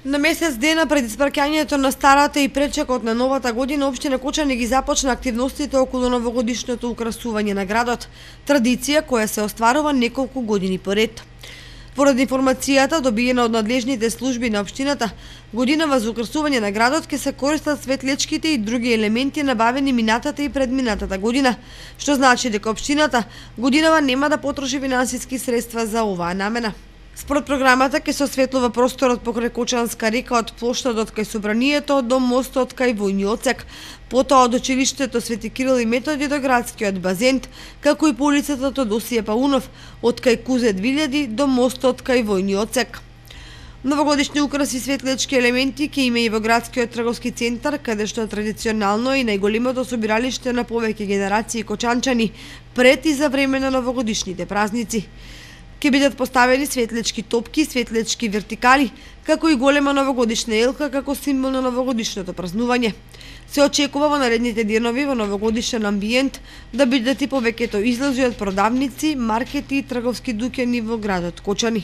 На месец дена пред испраќањето на старата и пречекот на новата година, општина Кочани ги започна активностите околу новогодишното украсување на градот, традиција која се остварува неколку години поред. Поради информацијата добиена од надлежните служби на општината, годинава за украсување на градот ќе се користат светлечките и други елементи набавени минатата и предминатата година, што значи дека општината годинава нема да потроши финансиски средства за оваа намена. Според програмата ќе се осветлува просторот покрај Кочанска река од плоштадот кај Собранието до мостот кај Војни отсек, потоа од училиштето Свети Кирил и Методи до градскиот базен, како и по улицата Тодосије Паунов, од кај Кузе 2000 до мостот кај Војни отсек. Новогодишни украси и светлечки елементи ќе има и во градскиот трговски центар, каде што традиционално и најголемото собиралиште на повеќе генерации кочанчани пред и за време на новогодишните празници. Ќе бидат поставени светлечки топки, светлечки вертикали, како и голема новогодишна елка како символ на новогодишното празнување. Се очекува во наредните денови во новогодишен амбиент да бидат и повеќето излози од продавници, маркети и трговски дуќани во градот Кочани.